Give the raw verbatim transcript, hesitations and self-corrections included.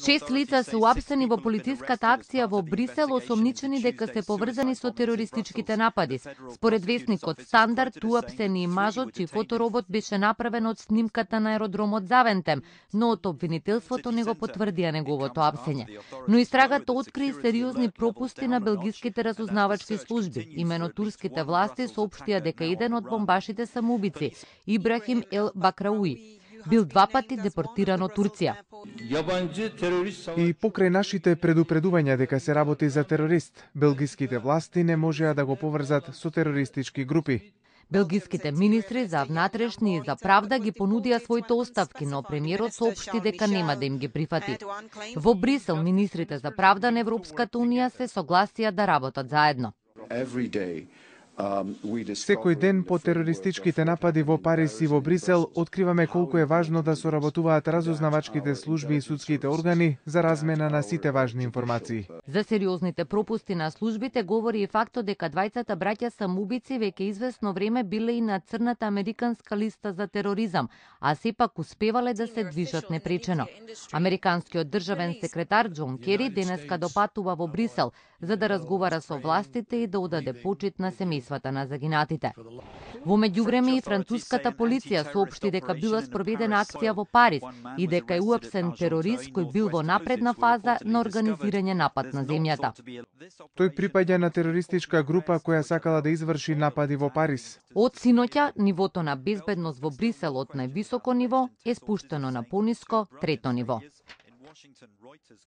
Шест лица се уапсени во полициската акција во Брисел, осомничени дека се поврзани со терористичките напади. Според весникот Стандард, уапсени и мажот, чиј фоторобот беше направен од снимката на аеродромот Завентем, но од обвинителството не го потврдија неговото апсење. Но истрагата откри сериозни пропусти на белгиските разузнавачки служби. Имено турските власти соопштија дека еден од бомбашите самоубици, Ибрахим Ел Бакрауи, бил два пати депортиран од Турција. И покрај нашите предупредувања дека се работи за терорист, белгиските власти не можеа да го поврзат со терористички групи. Белгиските министри за внатрешни и за правда ги понудија своите оставки, но премиерот соопшти дека нема да им ги прифати. Во Брисел, министрите за правда на Европската унија се согласија да работат заедно. Секој ден по терористичките напади во Париз и во Брисел откриваме колку е важно да соработуваат разузнавачките служби и судските органи за размена на сите важни информации. За сериозните пропусти на службите говори и фактот дека двајцата браќа самоубици веќе известно време биле и на црната американска листа за тероризам, а сепак успевале да се движат непречено. Американскиот државен секретар Џон Кери денеска допатува во Брисел за да разговара со властите и да одаде почит на семејствата на загинатите. Во меѓувреме и француската полиција соопшти дека била спроведена акција во Париз и дека е уапсен терорист кој бил во напредна фаза на организирање напад на земјата. Тој припаѓа на терористичка група која сакала да изврши напади во Париз. Од синоќа, нивото на безбедност во Брисел од највисоко ниво е спуштено на пониско трето ниво.